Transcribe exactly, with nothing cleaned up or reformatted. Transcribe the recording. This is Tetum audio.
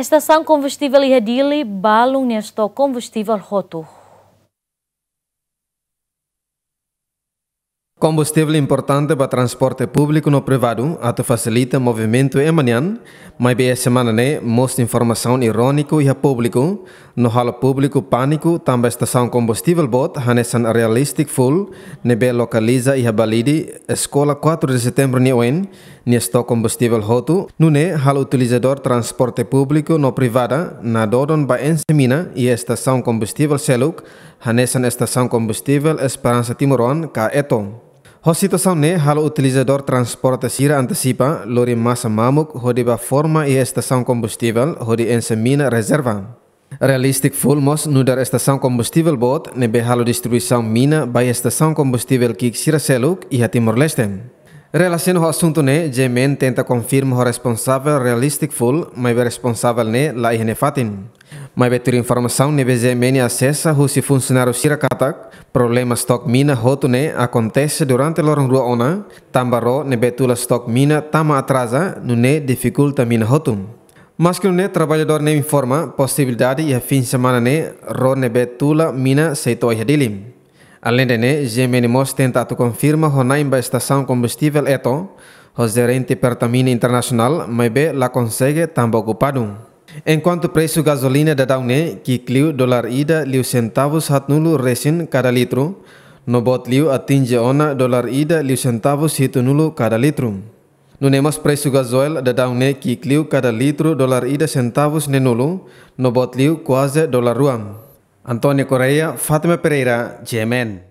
Estasaun kombustivel iha Dili balun nia stok kombustivel hotu. Kombustivel importante ba transporte públiku no privadu atu fasilita movimentu ema nian, maibé iha semana ne'e mós informasaun iróniku iha públiku, no halo públiku pániku tanba estasaun kombustivel boot hanesan Realistic Fuel ne'ebé lokaliza iha Balide, Eskola quatro de Setembro nia oin, nia stok kombustivel hotu, nune'e halo utilizadór transporte públiku no privada nadodon ba enxe mina iha estasaun kombustivel seluk, hanesan estasaun kombustivel Esperansa Timoroan ka Eto. Ho situasaun ne'e halo utilizadór transporte sira antesipa lori masa mamuk hodi bá forma iha estasaun kombustivel hodi enxe mina rezerva. Realistic Fuel mós nu'udar estasaun kombustivel boot ne'ebé halo distribuisaun mina ba iha estasaun kombustivel ki'ik sira seluk iha Timor-Leste. Relasiona ho asuntu ne'e, G M N tenta konfirma ho responsavel Realistic Fuel, maibé responsavel ne'e la iha nia fatin. Maibé tuir informasaun ne'ebé G M N asesa husi funsionáriu sira katak, problema stok mina hotu ne'e akontese durante loron rua ona, tanba ró ne'ebé tula stok mina tama atraza, nune'e difikulta mina hotu. Maske nune'e, traballadór ne'e informa posibilidade iha fin semana ne'e ró ne'ebé tula mina sei to'o iha Dili. Aleinde ne'e, G M N mós tenta atu konfirma ho na'in ba estasaun kombustivel Eto, ho jerente Pertamina Internasionál, maibé la konsege tanba okupadu. Enkuantu presu gazolina daudaun ne'e ki'ik liu dolar ida liu sentavus haatnulu resin kada litru, no boot liu atinje ona dolar ida liu sentavus hitunulu kada litru. Nune'e mós presu gazóil daudaun ne'e ki'ik liu kada litru dolar ida sentavus neenulu, no boot liu kuaze dolar rua. António Correia, Fátima Pereira, G M N.